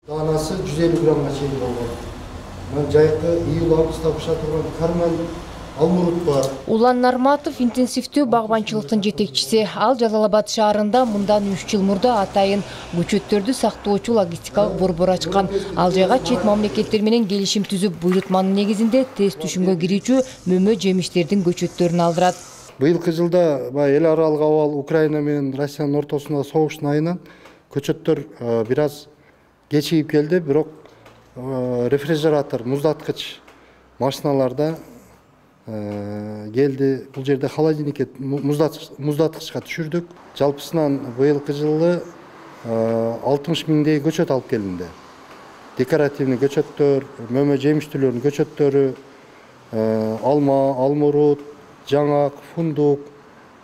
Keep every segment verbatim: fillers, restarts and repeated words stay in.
Даанасы жүз элүү граммга чейин болгон. Мына жайкы июль августта баша турган карман алмурут бар. Улан Нарматов интенсивдүү багбанчылыктын жетекчиси. Ал Жалал Абад шаарында мындан үч жыл мурда атайын көчөттөрдү сактоочу логистикалык борбор ачкан. Ал жайга чет мамлекеттер менен келишим түзүп, буйрутманын негизинде тест түшүмгө кирүүчү мөмө жемиштердин көчөттөрүн алдырат. Быйылкы жылда эл аралык абал Украина менен Россиянын ортосундагы согуштун айынан көчөттөр бир аз кечигип келди, бирок рефрижератор, муздаткыч машиналарда келди. Бул жерде холодильникке, муздаткычка түшүрдүк. Жалпысынан быйылкы жылы алтымыш миңдей көчөт алып келинди. Декоративный көчөттөр, мөмө жемиштүүлөрдүн көчөттөрү, алма, алмурут, жаңак, фундук,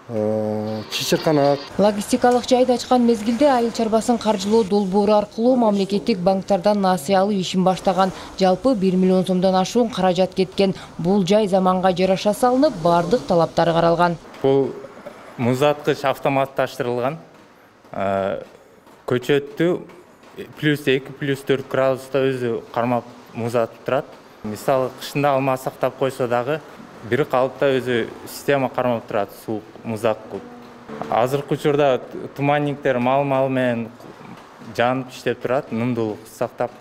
чычырканак. Логистикалык жайды ачкан мезгилде айыл чарбасын каржылоо долбоору аркылуу мамлекеттик банктардан насыя алуу ишин баштаган. Жалпы бир миллион сомдон ашуун каражат кеткен. Бул жай заманга жараша салынып, бардык талаптары каралган. Бул муздаткыч автоматташтырылган. Көчөттү плюс эки, плюс төрт градуста өзү кармап муздатып турат. Мисалы кышында алма сактап койсо дагы бир калыпта өзү система кармап турат, суук муздак кылып. Азыркы учурда туманниктер мал-мал менен жанып иштеп турат, нымдуулук сактап.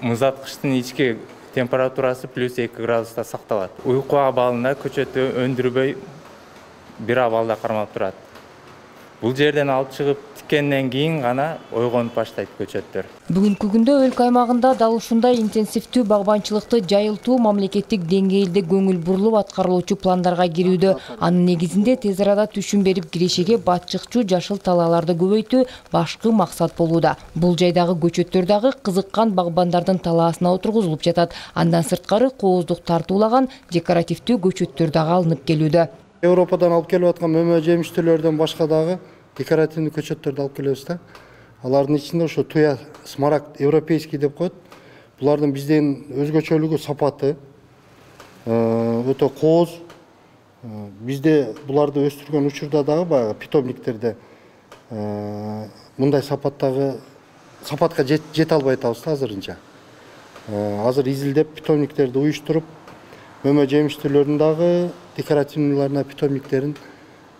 Муздаткычтын ички температурасы плюс эки градуста сакталат. Уйку абалында көчөттү өндүрбөй бир абалда кармап турат. Бул жерден алып чыгып тиккенден кийин гана ойгонуп баштайт көчөттөр. Бүгүнкү күндө өлкө аймагында дал ушундай интенсивдүү багбанчылыкты жайылтуу мамлекеттик деңгээлде көңүл бурулуп аткарылуучу пландарга кирүүдө. Анын негизинде тез арада түшүм берип кирешеге батчыкчу жашыл талааларды көбөйтүү башкы максат болууда. Бул жайдагы көчөттөр дагы кызыккан багбандардын талаасына отургузулуп жатат. Андан сырткары кооздук тартуулаган декоративдүү көчөттөр дагы алынып келүүдө. Европадан алып келип аткан мөмө жемиштүүлөрдөн башка дагы декоративный көчөттөрдү алып келебиз да. Алардын ичинде ошо туя, смарагд, европейский деп коет. Булардын бизден өзгөчөлүгү сапаты, өтө кооз. Бизде буларды өстүргөн учурда дагы баягы питомниктерде мындай сапаттагы сапатка жете албай атабыз да азырынча. Азыр изилдеп питомниктерди уюштуруп, мөмө жемиштүүлөрдүн дагы декоративныйларына питомниктерин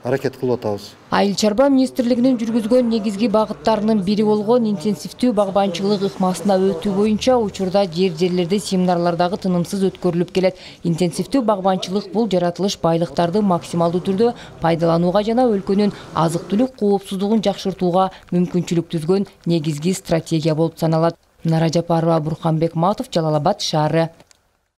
аракет кылып атабыз. Айыл чарба министрлигинин жүргүзгөн негизги багыттарынын бири болгон интенсивдүү багбанчылык ыкмасына өтүү боюнча учурда жер-жерлерде семинарлардагы тынымсыз өткөрүлүп келет. Интенсивдүү багбанчылык бул жаратылыш байлыктарды максималдуу түрдө пайдаланууга жана өлкөнүн азык-түлүк коопсуздугун жакшыртууга мүмкүнчүлүк түзгөн негизги стратегия болуп саналат. Нара Жапарова, Бурханбек Матов, Жалал Абад шаары.